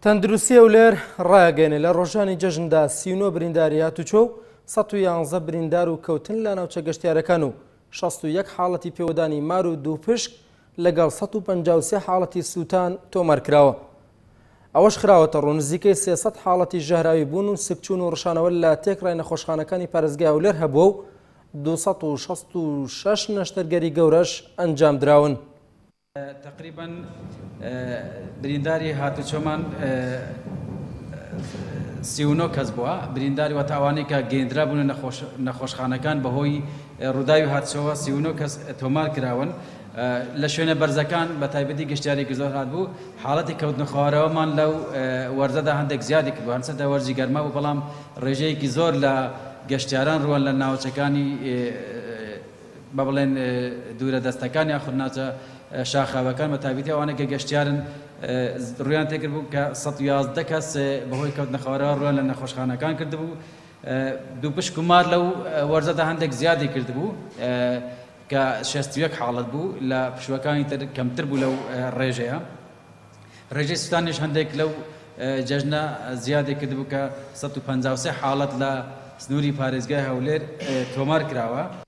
تەندروستی هەولێر ڕایەگەیەنێ لە ڕۆژانی جەژندا 39 برینداری هاتوچۆ و 111 بریندار و کەوتن لە ناوچە گەشتیارەکان و 61 حاڵەتی پێوەدانی مار و دووپشک لەگەڵ 153 حاڵەتی سووتان تۆمار کراوە. ئەوەش خراوەتە ڕوو نزیکەی 300 حاڵەتی ژەهراوی بوون و سکچوون و ڕشانەوە لە تێکڕای نەخۆشخانەکانی پارێزگای هەولێر هەبووە و 266 نەشتەرگەری گەورەش ئەنجامدراون. تەقریبەن برینداری هاتوچۆمان 39 کەس بووە برینداری واتە ئەوانەی کە گەیندرابوونە نەخۆشخانەکان بەهۆی ڕووداوی هاتوچۆوە 39 کەس تۆمار کراون لە شوێنە بەرزەکان بە تایبەتی گەشتیارێکی زۆر هاتبوو حاڵەتی کەوتنەخوارەوەمان لەو وەرزەدا هەندێک زیادی کردووە هەرچەندە وەرزی گەرما بوو بەڵام ڕێژەیەکی زۆر لە گەشتیاران ڕووان لە ناوچەکانی با بڵێن دوورە دەستەکان یاخود ناوچە شاخاوەکان بە تایبەتی ئەوانەی کە گەشتیارن ڕوویان تێکردبوو کە 111 کەس بەهۆی کەوتنە خوارەوە ڕوویان لە نەخۆشخانەکان کردبوو. دووپشک و مار لەو وەرزەدا هەندێک زیادی کردبوو کە 61 حاڵەت بوو لە پشووەکانی تر کەمتر بوو لەو ڕێژەیە. ڕێژەی سوتانیش هەندێک لەو جەژنە زیادی کردبوو کە 153 حاڵەت لە سنووری پارێزگای هەولێر تۆمار کراوە.